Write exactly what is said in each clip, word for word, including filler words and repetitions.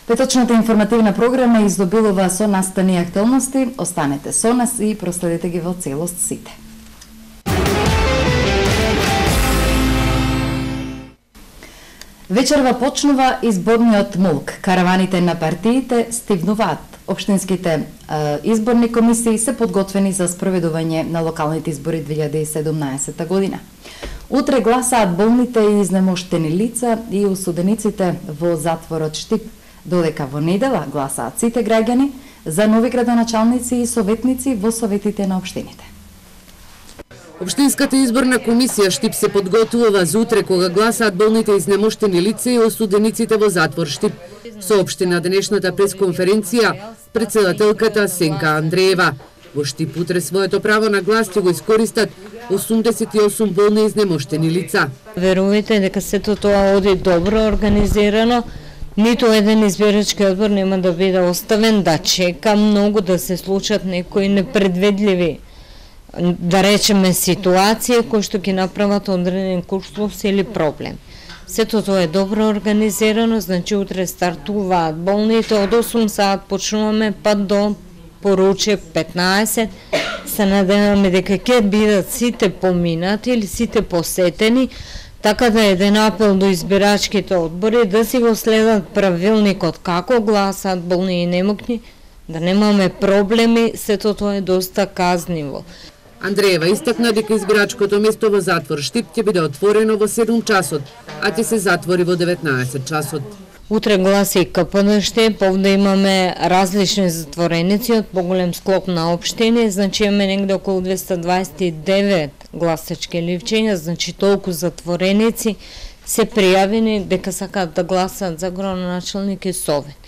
Петочната информативна програма издобилува со настани и актуелности. Останете со нас и проследете ги во целост сите. Вечерва почнува изборниот мулк. Караваните на партиите стивнуваат. Општинските е, изборни комисии се подготвени за спроведување на локалните избори две илјади и седумнаесетта година. Утре гласаат болните и изнемоштени лица и осудениците во затворот Штип, додека во недела гласаат сите граѓани за нови градоначалници и советници во советите на општините. Општинската изборна комисија Штип се подготвува за утре кога гласаат болните изнемоштени лица и осудениците во затвор Штип, соопшти на денешната пресконференција председателката Сенка Андреева. Во Штип утре своето право на глас ќе го искористат осумдесет и осум болни изнемоштени лица. Верувате дека сето тоа оди добро организирано, ниту еден избирачки одбор нема да биде оставен да чека многу да се случат некои непредвидливи, да речеме, ситуација кои што ќе направат одреден курслов или проблем. Сето тоа е добро организирано, значи утре стартуваат болните, од осум саат почнуваме па до поруче петнаесет. Се надеваме дека ќе бидат сите поминати или сите посетени, така да еден апел до избирачките одбори да си го следат правилникот како гласаат болни и немокни, да немаме проблеми, сето тоа е доста казниво. Андреева истакна дека избирачкото место во затвор Штип ќе биде отворено во седум часот, а ќе се затвори во деветнаесет часот. Утре гласи и КПНШ, повде имаме различни затвореници од поголем склоп на општини, значи имаме негде околу двеста дваесет и девет гласачки ливчења, значи толку затвореници се пријавени дека сакаат да гласат за градоначалник и совет.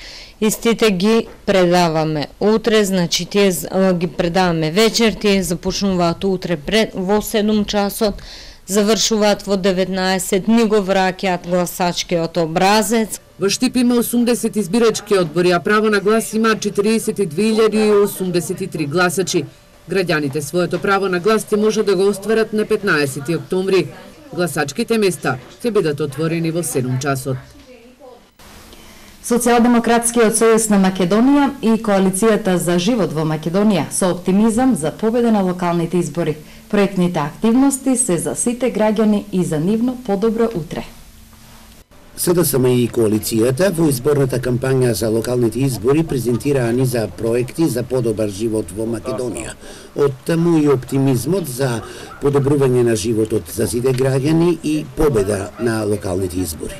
Истите ги предаваме утре, значи тие ги предаваме вечер, тие започнуваат утре пред, во седум часот, завршуваат во деветнаесет, ни го враќаат гласачкиот образец. Во Штип има осумдесет избирачки одбори, а право на глас имаат четириесет и две илјади осумдесет и три гласачи. Граѓаните своето право на глас ќе може да го остварат на петнаесети октомври. Гласачките места ќе бидат отворени во седум часот. Социјалдемократскиот сојуз на Македонија и Коалицијата за живот во Македонија со оптимизам за победа на локалните избори. Проектните активности се за сите граѓани и за нивно подобро утре. СДСМ и Коалицијата во изборната кампања за локалните избори презентираа низа проекти за подобар живот во Македонија. Од таму и оптимизмот за подобрување на животот за сите граѓани и победа на локалните избори.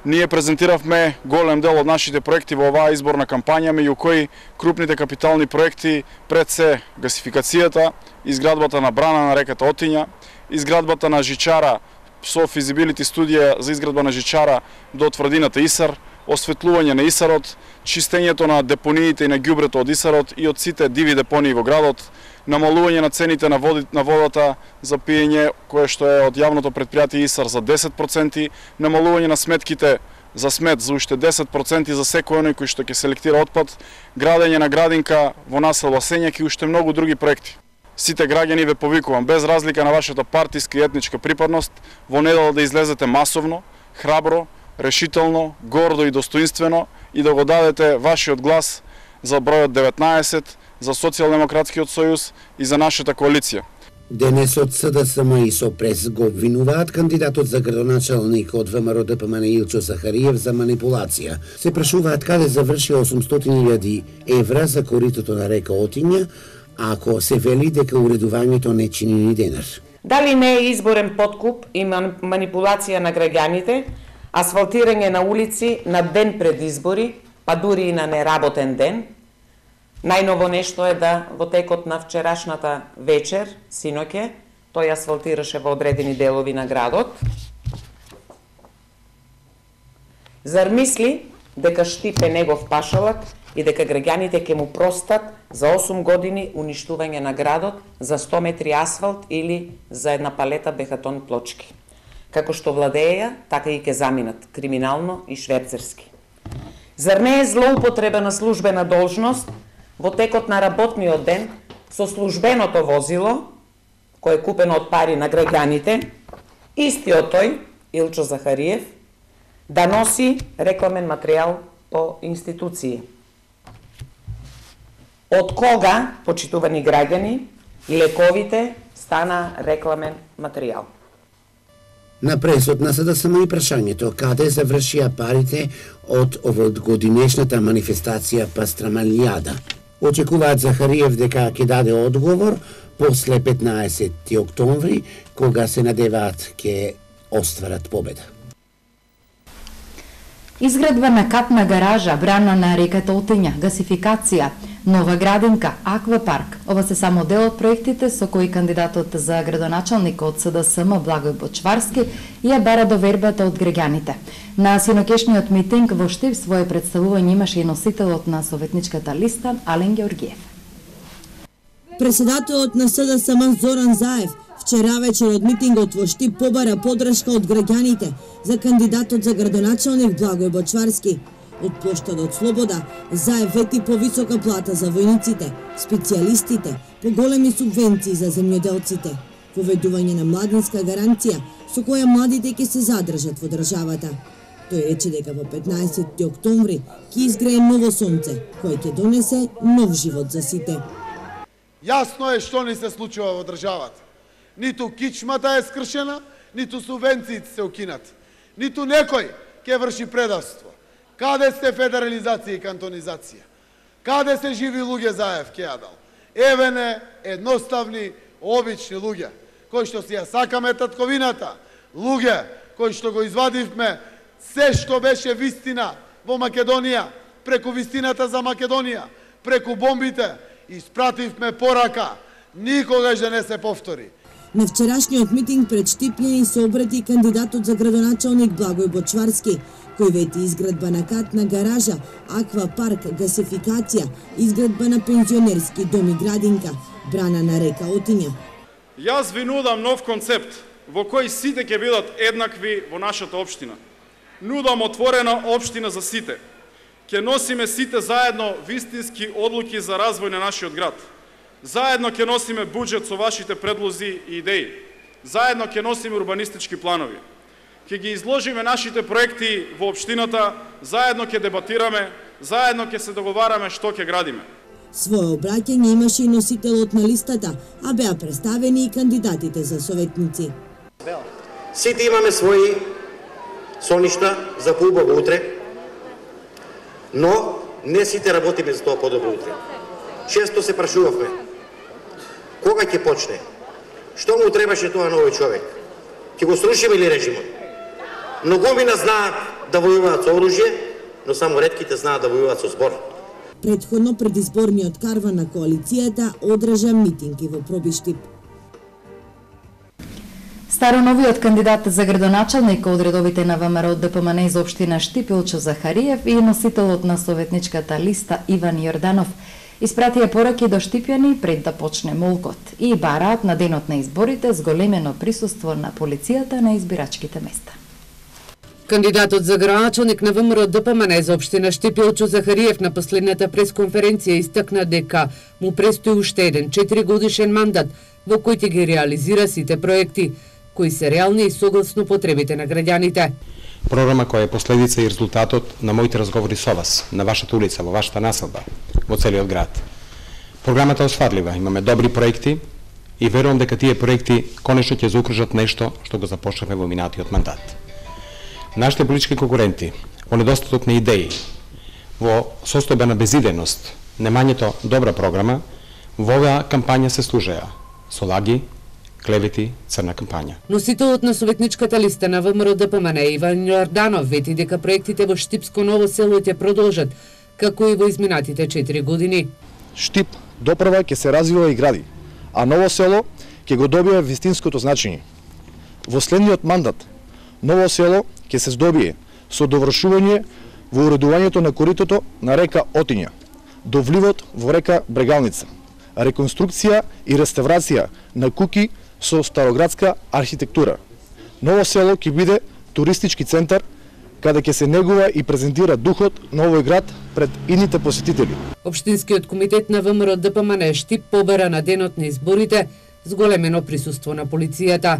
Ние презентиравме голем дел од нашите проекти во оваа изборна кампања, меѓу кои крупните капитални проекти пред се гасификацијата, изградбата на брана на реката Отиња, изградбата на жичара со физибилити студија за изградба на жичара до тврдината Исар, осветлување на Исарот, чистењето на депониите и на ѓубрето од Исарот и од сите диви депонии во градот, намалување на цените на, води, на водата за пиење, кое што е од јавното предпријатие Исар за десет проценти, намалување на сметките за смет за уште десет проценти за секој оној кој што ќе селектира отпад, градење на градинка во населба Сењак и уште многу други проекти. Сите граѓани ве повикувам, без разлика на вашата партиска и етничка припадност, во недела да излезете масовно, храбро, решително, гордо и достоинствено и да го дадете вашиот глас за бројот деветнаесет, за Социјалдемократскиот сојуз и за нашата коалиција. Денесот СДСМ и СОПРЕС го обвинуваат кандидатот за градоначалник од ВМРО Д П М Н Илчо Захариев за манипулација. Се прашуваат каде заврши осумстотини илјади евра за коритото на река Отиња, ако се вели дека уредувањето не чини ни денар. Дали не е изборен подкуп и манипулација на граѓаните, асфалтирање на улици на ден пред избори, па дури и на неработен ден? Најново нешто е да во текот на вчерашната вечер, синоќе, тој асфалтираше во одредени делови на градот. Зар мисли дека Штип е негов пашалак и дека граѓаните ќе му простат за осум години уништување на градот за сто метри асфалт или за една палета бехатон плочки? Како што владеја, така и ќе заминат криминално и шверцерски. Зар не е злоупотреба на службена должност во текот на работниот ден со службеното возило, кој е купено од пари на граѓаните, истиот тој, Илчо Захариев, да носи рекламен материјал по институции. Од кога, почитувани граѓани, лековите стана рекламен материјал? На пресот на СДСМ и прашањето каде завршија парите од овогодинешната манифестација Пастрамалијада. Очекуваат Захариев дека ќе даде одговор после петнаесети октомври, кога се надеваат ќе остварат победа. Изградба на катна гаража, брана на реката Отиња, гасификација, нова градинка, аквапарк. Ова се само дел од проектите со кои кандидатот за градоначалник од СДСМ Благој Бочварски ја бара довербата од граѓаните. На синокешниот митинг во Штип своје представување имаше и носителот на советничката листа Ален Георгиев. Председателот на СДСМ Зоран Заев вчера вечер од митингот во Штип побара подршка од граѓаните за кандидатот за градоначалник Благој Бочварски. Од плоштадот Слобода, Заев вети повисока плата за војниците, специјалистите, поголеми субвенции за земјоделците, поведување на младинска гаранција со која младите ќе се задржат во државата. Тој рече дека во петнаесети октомври ќе изгрее ново сонце, кој ќе донесе нов живот за сите. Јасно е што ни се случува во државата. Ниту кичмата е скршена, ниту субвенциите се укинат. Ниту некој ќе врши предавство. Каде сте федерализација и кантонизација? Каде се живи луѓе Заев ке ја дал? Еве не едноставни, обични луѓе, кои што си ја сакаме татковината, луѓе кои што го извадивме се што беше вистина во Македонија, преку вистината за Македонија, преку бомбите, испративме порака, никогаш да не се повтори. На вчерашниот митинг пред Штипљани се обрати кандидатот за градоначалник Благој Бочварски, кој вети изградба на катна гаража, аквапарк, гасификација, изградба на пензионерски дом и градинка, брана на река Отиња. Јас ви нудам нов концепт во кој сите ќе бидат еднакви во нашата општина. Нудам отворена општина за сите. Ќе носиме сите заедно вистински одлуки за развој на нашиот град. Заедно ќе носиме буџет со вашите предлози и идеи. Заедно ќе носиме урбанистички планови. Ќе ги изложиме нашите проекти во општината, заедно ќе дебатираме, заедно ќе се договараме што ќе градиме. Своје обраќање имаше и носителот на листата, а беа представени и кандидатите за советници. Сите имаме своји соништа за поубаво утре, но не сите работиме за тоа подобро утре. Често се прашувавме, кога ќе почне? Што му требаше тоа на овој човек? Ќе го срушиме или режимот? Многумина знаат да војуваат со оружје, но само ретките знаат да војуваат со збор. Предходно предизборниот карван на коалицијата одржа митинги во Пробиштип. Староновиот кандидат за градоначалник од редовите на ВМРО ДПМН из општина Штип Илчо Захариев и носителот на советничката листа Иван Јорданов испратија пораки до штипјани пред да почне молкот и бараат на денот на изборите зголемено присуство на полицијата на избирачките места. Кандидатот за градоначалник на ВМРО ДПМН за општина Штип Илчо Захариев на последната пресконференција истакна дека му престои уште еден четиригодишен мандат во кој ќе ги реализира сите проекти кои се реални и согласно потребите на граѓаните. Програма која е последица и резултатот на моите разговори со вас, на вашата улица, во вашата населба, во целиот град. Програмата е осварлива, имаме добри проекти и верувам дека тие проекти конечно ќе заокружат нешто што го започнавме во минатиот мандат. Нашите политички конкуренти, во недостаток на идеи, во состојба на безидејност, немањето добра програма, во оваа кампања се служеа со лаги, клевети, црна кампања. Носителот на советничката листа на ВМРО ДПМН Иван Јорданов вети дека проектите во Штипско Ново село ќе продолжат, како и во изминатите четири години. Штип допрва ќе се развива и гради, а Ново село ќе го добие вистинското значење. Во следниот мандат Ново село ќе се здобие со довршување во уредувањето на коритото на река Отиња, до вливот во река Брегалница, реконструкција и реставрација на куќи со староградска архитектура. Ново село ќе биде туристички центар, каде ќе се негува и презентира духот на овој град пред идните посетители. Општинскиот комитет на ВМРО ДПМН Штип побара на денот на изборите зголемено присуство на полицијата.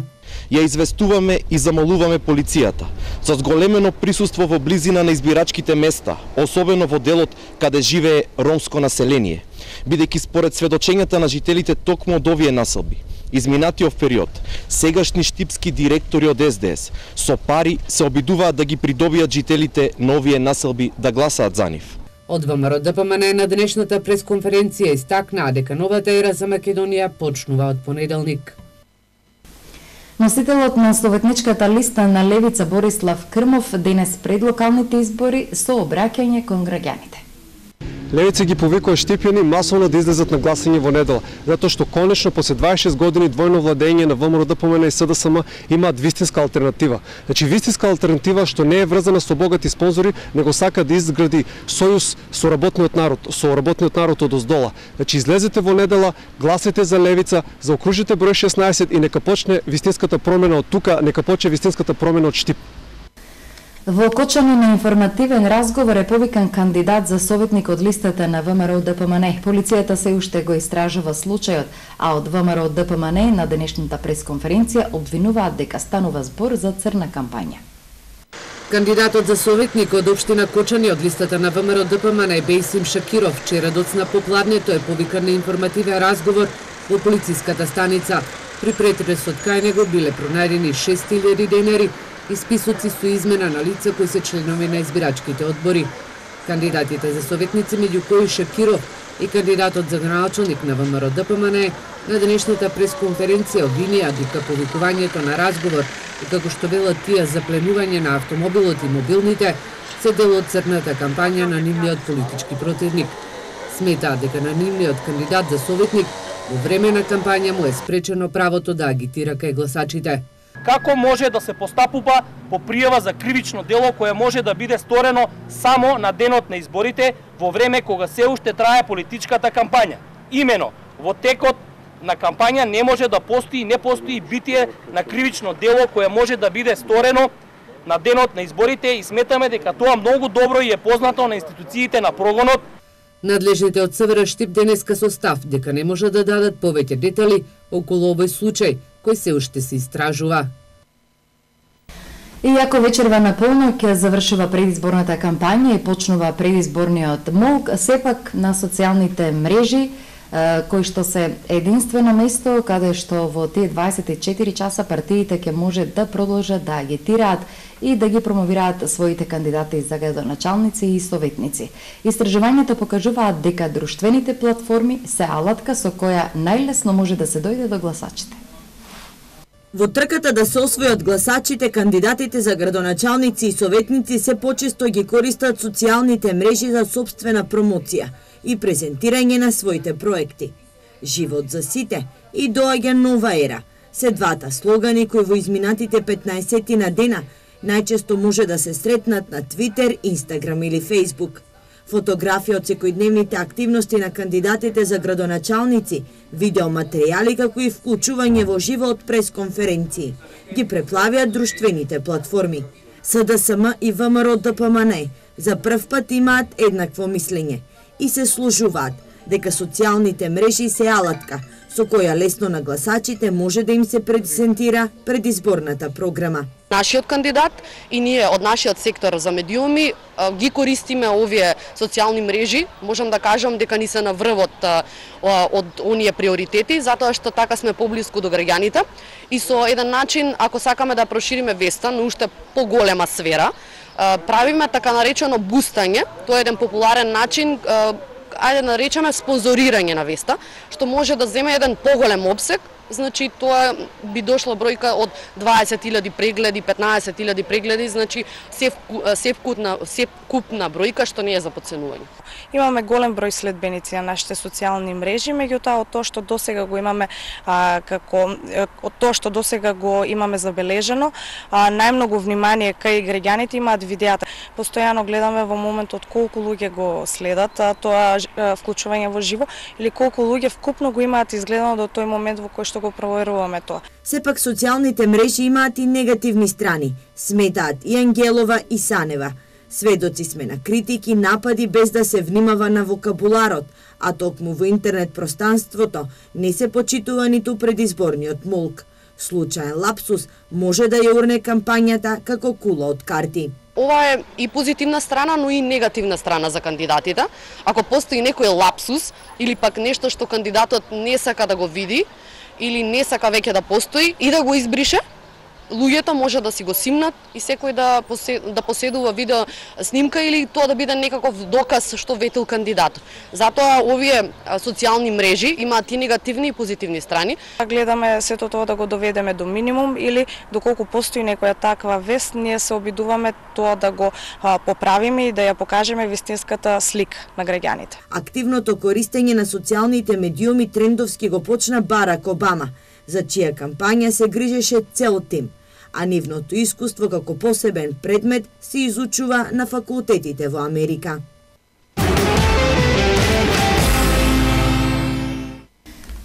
Ја известуваме и замолуваме полицијата за зголемено присуство во близина на избирачките места, особено во делот каде живее ромско население, бидејќи според сведочењата на жителите токму од овие населби, изминатиот период, сегашни штипски директори од Ес Де Ес со пари се обидуваат да ги придобијат жителите на овие населби да гласаат за нив. Од ВМРО Д П М Н на денешната пресконференција истакнаа дека новата ера за Македонија почнува од понеделник. Носителот на советничката листа на Левица Борислав Крмов денес пред локалните избори со обраќање кон граѓаните. Левица ги повикува Штипјани масовно да излезат на гласање во недела, затоа што конечно после дваесет и шест години двојно владење на ВМРО Д П М Н и С Д С М имаат вистинска алтернатива. Значи вистинска алтернатива што не е врзана со богати спонзори, него сака да изгради сојуз со работниот народ, со работниот народ од оздола. Значи излезете во недела, гласете за Левица, заокружите број шеснаесет и нека почне вистинската промена од тука, нека почне вистинската промена од Штип. Во Кочани на информативен разговор е повикан кандидат за советник од листата на ВМРО Д П М Н. Полицијата се уште го истражува случајот, а од ВМРО Д П М Н на денешната пресконференција обвинуваат дека станува збор за црна кампања. Кандидатот за советник од општина Кочани од листата на ВМРО Д П М Н Бейсим Шакиров вчера доцна попладнето е повикан на информативен разговор во полициската станица. При претресот кај него биле пронајдени шест илјади денари и списоци со измена на лица кои се членови на избирачките одбори. Кандидатите за советници, меѓу кои Шакиров и кандидатот за граначалник на ВМРО Д П М Н на денешната пресконференција обвинија дека повикувањето на разговор и како што велат тие запленување на автомобилот и мобилните се дел од црната кампања на нивниот политички противник. Сметаат дека на нивниот кандидат за советник во време на кампања му е спречено правото да агитира кај гласачите. Како може да се постапува по пријава за кривично дело кое може да биде сторено само на денот на изборите во време кога се уште трае политичката кампања. Имено, во текот на кампања не може да постои и не постои битие на кривично дело кое може да биде сторено на денот на изборите и сметаме дека тоа многу добро и е познато на институциите на прогонот. Надлежните од С В Р Штип денеска со став дека не може да дадат повеќе детали околу овој случај, кој се уште се истражува. Иако вечерва на полноќ завршува предизборната кампања и почнува предизборниот молк, сепак на социјалните мрежи, кои што се единствено место каде што во тие дваесет и четири часа партиите ќе може да продолжат да агитираат и да ги промовираат своите кандидати за градоначалници и советници. Истражувањата покажуваат дека друштвените платформи се алатка со која најлесно може да се дојде до гласачите. Во трката да се освојат гласачите, кандидатите за градоначалници и советници се почесто ги користат социјалните мрежи за собствена промоција и презентирање на своите проекти. Живот за сите и доаѓа нова ера се двата слогани кои во изминатите петнаесет на дена најчесто може да се сретнат на Твитер, Инстаграм или Фејсбук. Фотографија од секојдневните активности на кандидатите за градоначалници, видеоматеријали како и вклучување во живо од пресконференции ги преплавиат друштвените платформи. С Д С М и ВМРО Д П М Н за прв пат имаат еднакво мислење и се служуваат дека социјалните мрежи се алатка со која лесно на гласачите може да им се презентира предизборната програма. Нашиот кандидат и ние од нашиот сектор за медиуми ги користиме овие социјални мрежи, можам да кажам дека ни се на врвот од оние приоритети, затоа што така сме поблиску до граѓаните и со еден начин, ако сакаме да прошириме веста на уште поголема сфера, правиме така наречено бустање, тоа е еден популарен начин, ајде да наречеме спонзорирање на веста, што може да земе еден поголем обсег. Значи тоа би дошла бројка од дваесет илјади прегледи, петнаесет илјади прегледи, значи се се вкупна се купна бројка што не е за подценување. Имаме голем број следбеници на нашите социјални мрежи, меѓутоа од тоа што досега го имаме а, како од тоа што досега го имаме забележено, а, најмногу внимание кај граѓаните имаат видеата. Постојано гледаме во моментот колку луѓе го следат а, тоа а, вклучување во живо или колку луѓе вкупно го имаат изгледано до тој момент во кој што го проверуваме тоа. Сепак социјалните мрежи имаат и негативни страни, сметаат и Ангелова и Санева. Сведоци сме на критики, напади без да се внимава на вокабуларот, а токму во интернет пространството не се почитува ниту предизборниот молк. Случаен лапсус може да ја урне кампањата како кула од карти. Ова е и позитивна страна, но и негативна страна за кандидатите. Ако постои некој лапсус или пак нешто што кандидатот не сака да го види или не сака веќе да постои и да го избрише, луѓето може да си го симнат и секој да да поседува видео снимка или тоа да биде некаков доказ што ветил кандидатот. Затоа овие социјални мрежи имаат и негативни и позитивни страни. Гледаме сето тоа да го доведеме до минимум или доколку постои некоја таква вест, ние се обидуваме тоа да го а, поправиме и да ја покажеме вистинската слика на граѓаните. Активното користење на социјалните медиуми трендовски го почна Барак Обама, за чија кампања се грижеше цел тим, а нивното искуство како посебен предмет се изучува на факултетите во Америка.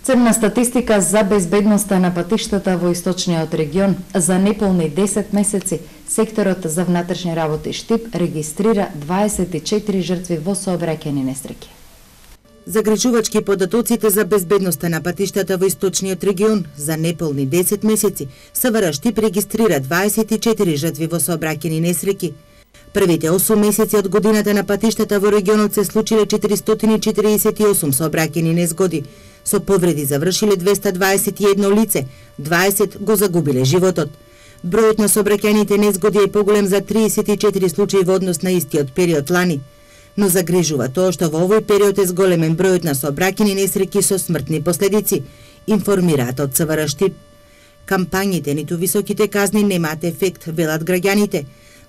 Црна статистика за безбедноста на патиштата во источниот регион. За неполни десет месеци секторот за внатрешни работи Штип регистрира дваесет и четири жртви во сообраќајни несреќи. Загрижувачки податоците за безбедноста на патиштата во источниот регион. За неполни десет месеци СВР Штип регистрира дваесет и четири жртви во сообраќајни несреќи. Првите осум месеци од годината на патиштата во регионот се случиле четиристотини и четиридесет и осум сообраќајни незгоди. Со повреди завршиле двеста дваесет и едно лице, дваесет го загубиле животот. Бројот на сообраќајните незгоди е поголем за триесет и четири случаи во однос на истиот период лани. Но загрижува тоа што во овој период е зголемен бројот на сообраќајни несреќи со смртни последици, информираат од СВР Штип. Кампањите ниту високите казни немаат ефект, велат граѓаните.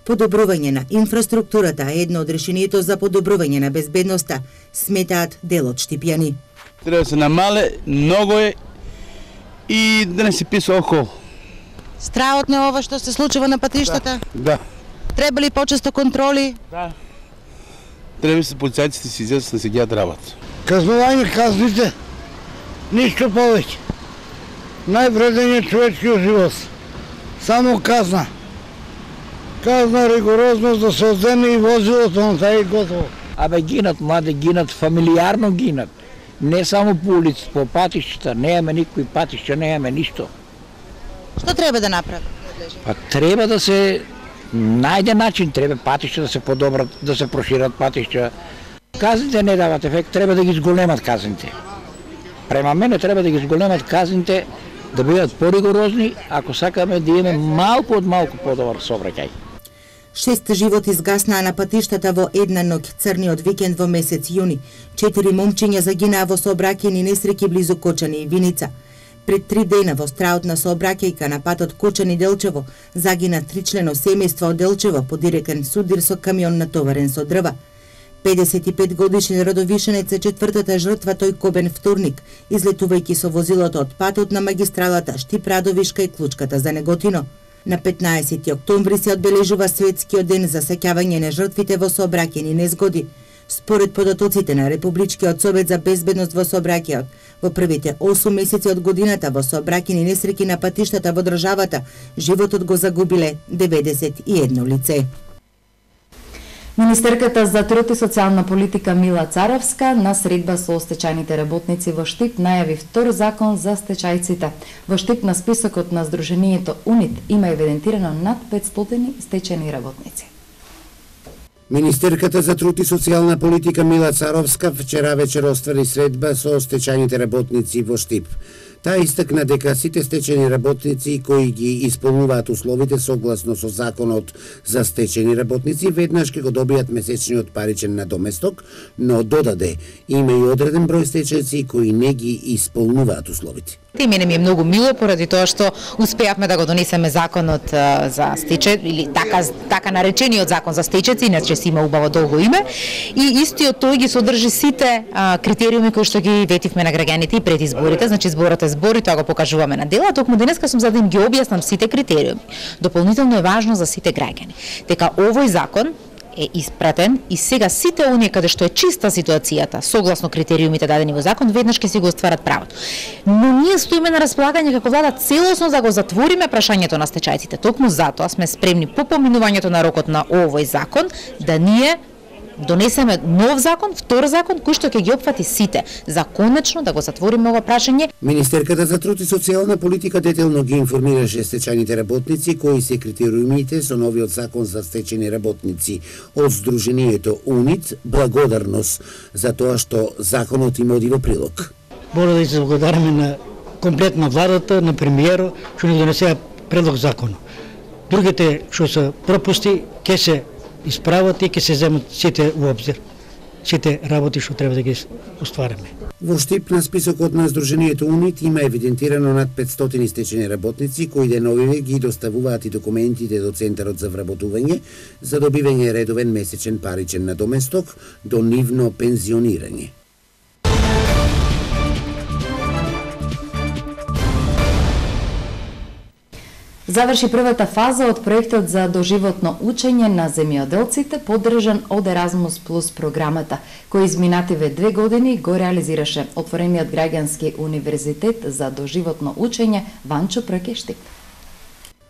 Подобрување на инфраструктурата е едно од решението за подобрување на безбедноста, сметаат дел од штипјани. Треба да се намале, многу е и да не се писа околу. Страотно е ова што се случува на патиштата? Да. да. Треба ли почесто контроли? Да. Треба се полицајците си излезат да се геат работа. Казнување казните, ништо повеќе. Највреден е човечкиот живот. Само казна. Казна ригорозност да се одземе и возилото на тај и готово. Абе гинат млади, гинат фамилиарно гинат. Не само по улици, по патишта, немаме никои патишта, немаме ништо. Што треба да направи? Па треба да се најде начин, треба патишта да се подобрат, да се прошират патишта. Казните не дават ефект, треба да ги зголемат казните. Према мене треба да ги зголемат казните, да бидат поригорозни, ако сакаме да имаме малку од малку подобар сообраќај. Шест животи изгаснаа на патиштата во една ноќ црниот викенд во месец јуни. Четири момчиња загинаа во сообраќајни несреќи близу Кочани и Виница. Пред три дена во страот на сообраќајка на патот Кочани-Делчево загина тричлено семејство од Делчево по директен судир со камион натоварен со дрва. педесет и пет годишен родовишенец е четвртата жртва тој кобен вторник, излетувајќи со возилото од патот на магистралата Штип-Радовишка и Клучката за Неготино. На петнаесети октомври се одбележува светскиот ден за сеќавање на жртвите во сообраќајни незгоди. Според податоците на Републичкиот совет за безбедност во сообраќајот, во првите осум месеци од годината во сообраќајни несреќи на патиштата во државата, животот го загубиле деветдесет и едно лице. Министерката за труд и социјална политика Мила Царовска на средба со стечајните работници во Штип најави втор закон за стечајците. Во Штип на списокот на Сдруженијето УНИТ има евидентирано над петстотини стечајни работници. Министерката за труд и социјална политика Мила Царовска вчера вечер оствари средба со стечајните работници во Штип. Таа истакна дека сите стечени работници кои ги исполнуваат условите согласно со законот за стечени работници веднаш ќе го добијат месечниот паричен надоместок, но додаде има и одреден број стечајци кои не ги исполнуваат условите. И мене ми е многу мило поради тоа што успеавме да го донесеме законот а, за стечај или така така наречениот закон за стечајци, иначе си има убаво долго име, и истиот тој ги содржи сите а, критериуми кои што ги ветивме на граѓаните и пред изборите, значи зборот е збор и тоа го покажуваме на дела, токму денеска сум за да им ги објаснам сите критериуми. Дополнително е важно за сите граѓани дека овој закон е испратен и сега сите оние каде што е чиста ситуацијата, согласно критериумите дадени во закон, веднаш ќе си го остварат правото. Но ние стоиме на располагање како влада целосно да го затвориме прашањето на стечајците. Токму затоа сме спремни по поминувањето на рокот на овој закон да ние донесеме нов закон, втор закон, кој што ќе ги опфати сите, за конечно да го затвориме ова прашање. Министерката за труд и социјална политика детелно ги информираше стечајните работници кои се критериумите со новиот закон за стечајни работници од Сдруженијето УНИТ, благодарност за тоа што законот им оди во прилог. Мора да се благодариме на комплетна владата, на премиерот, што ни донесеа предлог закон. Другите што се пропусти ќе се исправат и ќе се земат сите во обзир, сите работи што треба да ги оствариме. Во Штип на списокот на Сдруженијето УНИТ има евидентирано над петстотини стечени работници кои деновиве ги доставуваат и документите до Центарот за вработување за добивање редовен месечен паричен надоместок до нивно пензионирање. Заврши првата фаза од проектот за доживотно учење на земјоделците, поддржан од Еразмус плюс програмата, кој изминативе две години го реализираше отворениот граѓански универзитет за доживотно учење Ванчо Прекештип.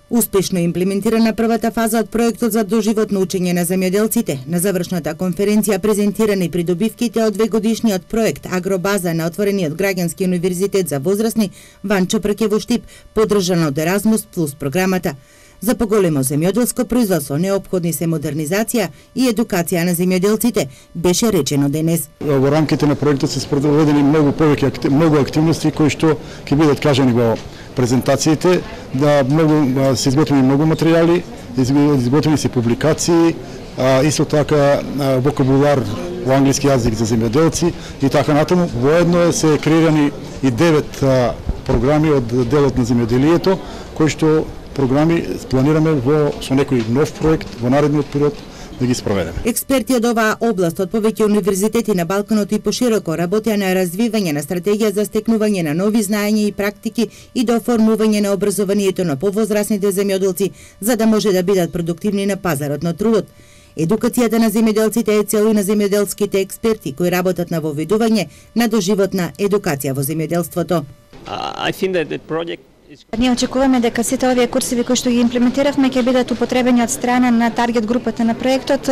Успешно имплементирана првата фаза од проектот за доживотно учење на земјоделците. На завршната конференција презентирани придобивките од двегодишниот проект Агробаза на отворениот граѓански универзитет за возрастни Ванчо Прке во Штип, поддржана од Еразмус плюс програмата. За поголемо земјоделско производство неопходни се модернизација и едукација на земјоделците, беше речено денес. Во рамките на проектот се спроведени многу повеќе многу активности кои што ќе бидат кажани во презентациите, да многу се изготвени многу материјали, изготвени се публикации, а, исто така а, вокабулар во англиски јазик за земјоделци и така натаму. Воедно се креирани и девет а, програми од делот на земјоделието, кои што програми планираме во со некој нов проект во наредниот период да ги спроведеме. Експерти од оваа област од повеќе универзитети на Балканот и пошироко работеа на развивање на стратегија за стекнување на нови знаења и практики и до оформување на образованието на повозрасните земјоделци за да може да бидат продуктивни на пазарот на трудот. Едукацијата на земјоделците е цел и на земјоделските експерти кои работат на воведување на доживотна едукација во земјоделството. Uh, I think that the project Ние очекуваме дека сите овие курсеви кои што ги имплементиравме ќе бидат употребени од страна на таргет групата на проектот,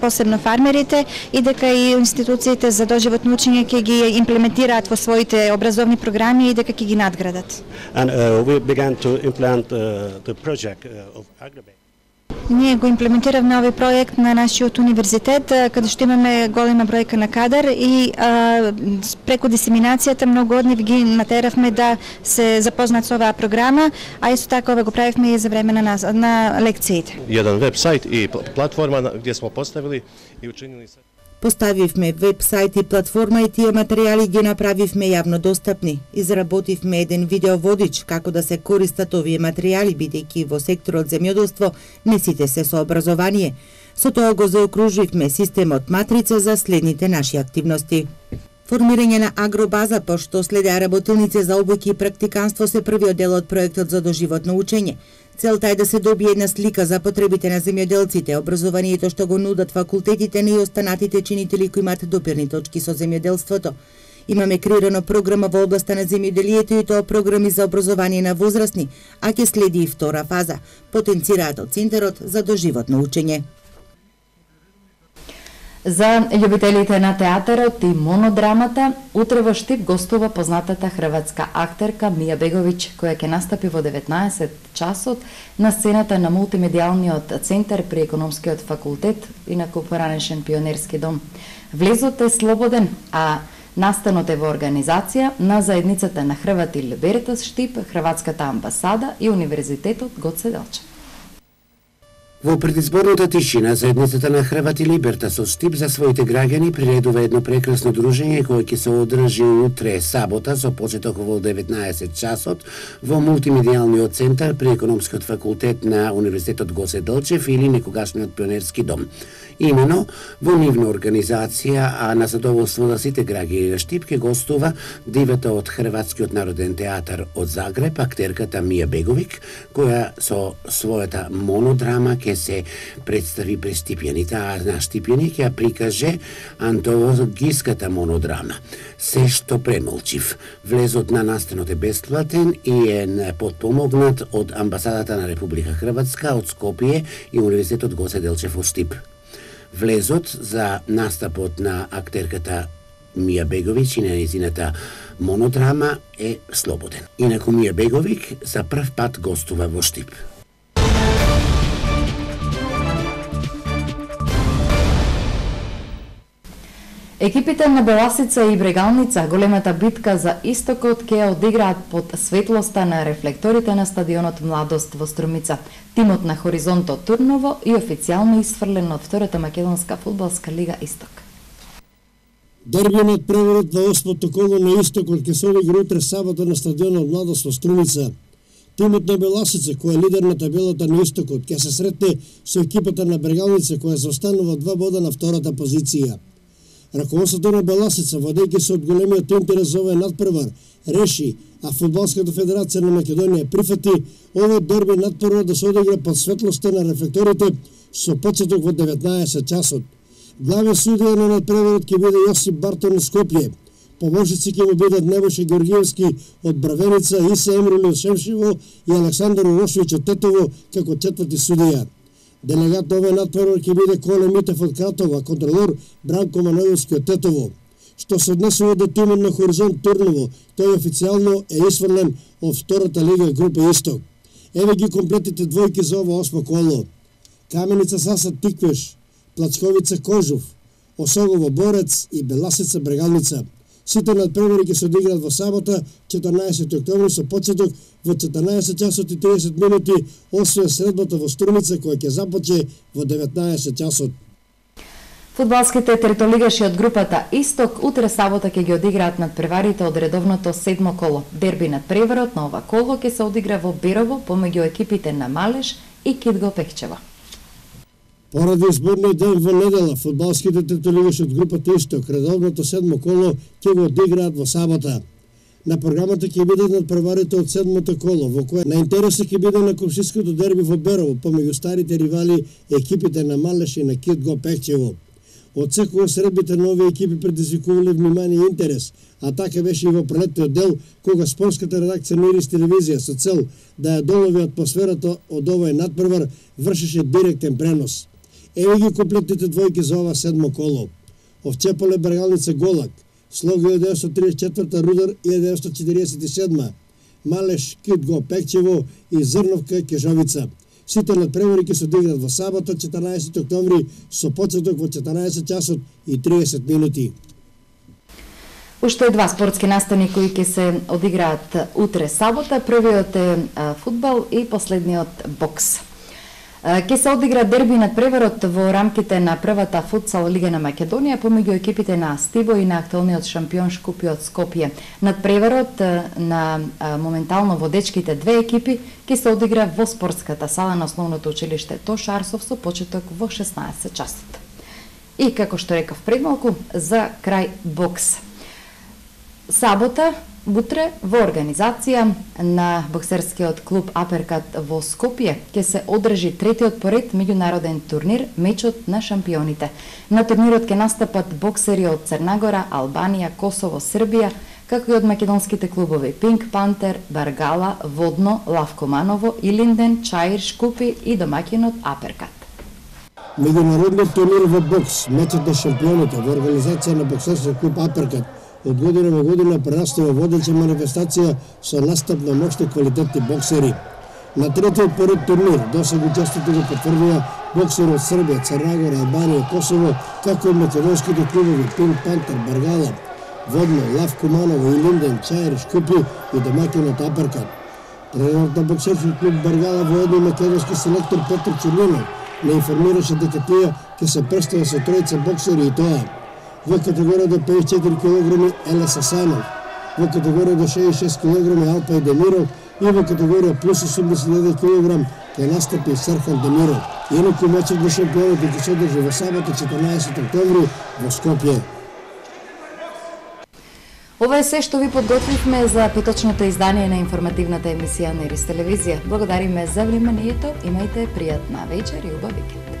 посебно фармерите, и дека и институциите за доживотно учење ќе ги имплементираат во своите образовни програми и дека ќе ги надградат. And uh, we began to implement uh, the project uh, of Agribase. Ние го имплементиравме овој проект на нашиот универзитет, каде што имаме голема бројка на кадар и а, преку дисеминацијата многу од нив ги натеравме да се запознаат со оваа програма, а исто така ова го правивме и за време на, нас, на лекциите. Еден веб-сайт и платформа где смо поставили и учинили се. Поставивме веб-сайт и платформа и тие материјали ги направивме јавно достапни. Изработивме еден видеоводич како да се користат овие материјали, бидејќи во секторот земјоделство не сите се со образование. Со тоа го заокруживме системот матрица за следните наши активности. Формирање на агробаза, пошто следеа работилници за обуки и практиканство се првиот дел од проектот за доживотно учење. Целта е да се добие една слика за потребите на земјоделците, образованието што го нудат факултетите, и останатите чинители кои имаат допирни точки со земјоделството. Имаме креирано програма во областа на земјоделието и тоа програми за образование на возрастни, а ќе следи и втора фаза, потенцираат од Центарот за доживотно учење. За љубителите на театарот и монодрамата, утре во Штип гостува познатата хрватска актерка Мија Беговиќ, која ќе настапи во деветнаесет часот на сцената на мултимедијалниот центар при економскиот факултет, инаку поранешен пионерски дом. Влезот е слободен, а настанот е во организација на заедницата на Хрвати Либертас Штип, Хрватската амбасада и Универзитетот Гоце Делчев. Во предизборната тишина, заедницата на Хрвати Либертас од Штип за своите граѓани приредува едно прекрасно дружење кое ќе се одржи утре сабота со почеток во деветнаесет часот во мултимедијалниот центар при економскиот факултет на Универзитетот Гоце Делчев или некогашниот пионерски дом. Имено во нивна организација, а на задоволство на сите граѓани на Штип ќе гостува дивата од Хрватскиот народен театар од Загреб, актерката Мија Беговиќ, која со својата монодрама ќе ќе се представи пред Стипјаните, а на Стипјани ќе прикаже антологиската монодрама Се што премолчив. Влезот на настанот е бесплатен и е подпомогнат од Амбасадата на Република Хрватска, од Скопје и Универзитетот Гоце Делчев од Штип. Влезот за настапот на актерката Мија Беговиќ и на нејзината монодрама е слободен. Инаку Мија Беговиќ за прв пат гостува во Штип. Екипите на Беласица и Брегалница големата битка за истокот ќе одиграат под светлоста на рефлекторите на стадионот Младост во Струмица. Тимот на Хоризонто Турново и официјално исфрлен од втората македонска фудбалска лига Исток. Дербиот преворот на осмото коло на Истокот ќе се одигра утре сабота на стадионот Младост во Струмица. Тимот на Беласица, кој е лидер на табелата на Истокот, ќе се сретне со екипата на Брегалница, која заостанува два бода на втората позиција. Раководството на Беласица, водејќи се од големиот интерес за овој надпревар, реши, а Фудбалската федерација на Македонија прифати овој дерби надпревар да се одигра под светлоста на рефлекторите со почеток во деветнаесет часот. Главен судија на надпреварот ќе биде Јосип Бартон од Скопје. Помошници ќе му бидат Небоша Георгиевски од Бравеница, Иса Емрули од Шемшево и Александар Урошовиќ од Тетово како четврти судија. Делегат на овој надпревар ќе биде Коле Митев од Кратово, а контролор Бранко Манојовски од Тетово. Што се однесува до тимот на Хоризонт Турново, тој официјално е исфрлен од втората лига група Исток. Еве ги комплетните двојки за ова осмо коло. Каменица Сасад Тиквеш, Плачковица Кожув, Осогово Борец и Беласица Брегалница. Сите надпревари ќе се одиграат во сабота, четрнаесети октомври, со почеток во четрнаесет часот и триесет минути, освен средбата во Струмица, која ќе започне во деветнаесет часот. Фудбалските третолигаши од групата Исток утре сабота ќе ги одиграат надпреварите од редовното седмо коло. Дерби надпреварот на ова коло ќе се одигра во Берово помеѓу екипите на Малеш и Кидго Пехчево. Поради изборниот ден во недела, фудбалските третолигаши од групата Исток редовното седмо коло ќе го одиграат во сабота. На програмата ќе бидат надпреварите од седмото коло, во кое на интереси ќе биде на комшиското дерби во Берово помеѓу старите ривали екипите на Малеш и на Кидго Пехчево. Од секоја средбите на овие екипи предизвикувале внимание и интерес, а така беше и во пролетниот дел, кога спортската редакција на Ирис телевизија со цел да ја долови атмосферата од овој надпревар вршеше директен пренос. Еве ги комплетните двојки за ова седмо коло. Овчеполе Брегалница Голак, Слог илјада деветстотини тридесет и четврта, Рудар илјада деветстотини четириесет и седма, Малеш Кидго Пехчево и Зрновка Кежовица. Сите надпревари ќе се одиграат во сабота, четрнаесети октомври, со почеток во четрнаесет часот и триесет минути. Уште два спортски настани кои ќе се одиграат утре сабота. Првиот е фудбал и последниот бокс. Ке се одигра дерби надпреварот во рамките на првата футсал лига на Македонија помеѓу екипите на Астиво и на актуелниот шампион Шкупјот Скопје. Надпреварот на моментално водечките две екипи ке се одигра во спортската сала на основното училиште Тоша Арсов со почеток во шеснаесет часот. И како што рекав пред малку, за крај бокс. Сабота утре во организација на боксерскиот клуб Аперкат во Скопје ќе се одржи третиот поред меѓународен турнир Мечот на шампионите. На турнирот ќе настапат боксери од Црнагора, Албанија, Косово, Србија, како и од македонските клубови Пинк Пантер, Баргала, Водно, Лавкоманово, Илинден, Чаир, Шкупи и домаќинот Аперкат. Меѓународниот турнир во бокс Мечот на шампионите во организација на боксерскиот клуб Аперкат од година во година прерастува водеча манифестација со настап на мощни квалитетни боксери. На третиот поред турнир досега учеството го потврдува боксери од Србија, Црнагора, Албанија, Косово, како и македонските клубови Пинк Пантер, Баргала, Водно, Лавкоманово, Илинден, Чаир, Шкупи и домаќинот Аперкат. Тренерот на боксерскиот клуб Баргала воедно македонски селектор Петр Чернинов не информираше дека тие ќе се представат со тројца боксери и тоа во категорија до пеесет и четири килограми Елес Асанов, во категорија до шеесет и шест килограми Алпај Демиров и во категорија плюс осумдесет и еден килограм ќе настапи Серхан Демиров. Инаку мечот на шампионите ќе се одржи во сабота четрнаесети октомври во Скопје. Ова е се што ви подготвивме за петочното издание на информативната емисија на Ирис телевизија. Благодариме за вниманието, имајте пријатна вечер и убав викенд.